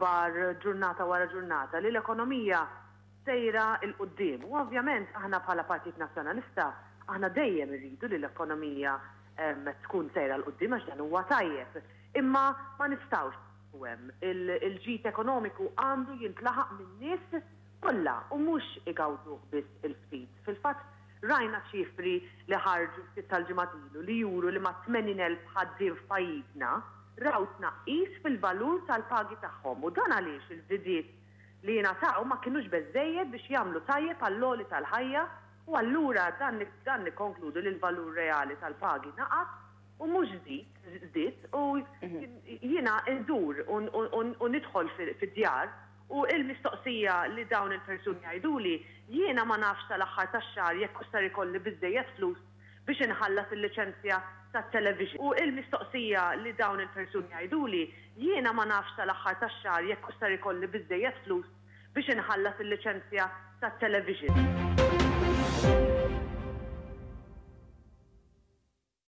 l-aħbar ġurnata wara ġurnata li l-ekonomija sejra 'l quddiem. U ovvjament aħna bħala Partit Nazzjonalista aħna dejjem irridu li l-ekonomija tkun sejra 'l quddiem għax dan huwa tajjeb. Imma ma nistgħux nieqfu hemm. Il-ġid ekonomiku għandu jintlaħaq min-nies kollha u mhux igawduh biss il-ftit. Fil-fatt rajna ċifri li ħarġu ftit tal-ġimgħat ilu li juru li mat-80,000 ħaddiem f'pajjiżna raw tnaqqis fil-valur tal-pagi tagħhom u dan għaliex il-żidiet li jingħataw ma kinux beżżejjed biex jagħmlu tajjeb għall-għoli tal-ħajja u allura dan dan nikkonkludu li l-valur reali tal-pagi naqas u mhux żid żdied u jiena ndur u nidħol fid-djar u l-mistoqsija li dawn il-persuni jgħiduli, jiena ma nafx sal-aħħar tax-xahar jekk hux ser ikolli biżżejjed flus biex inħallas il-liċenzja tat-television. U l-mistoqsija li dawn il-persuni jgħiduli, jiena ma nafx sal-aħħar tax-xahar jekk hux ser ikolli biżżejjed flus biex inħallas il-liċenzja tat-television.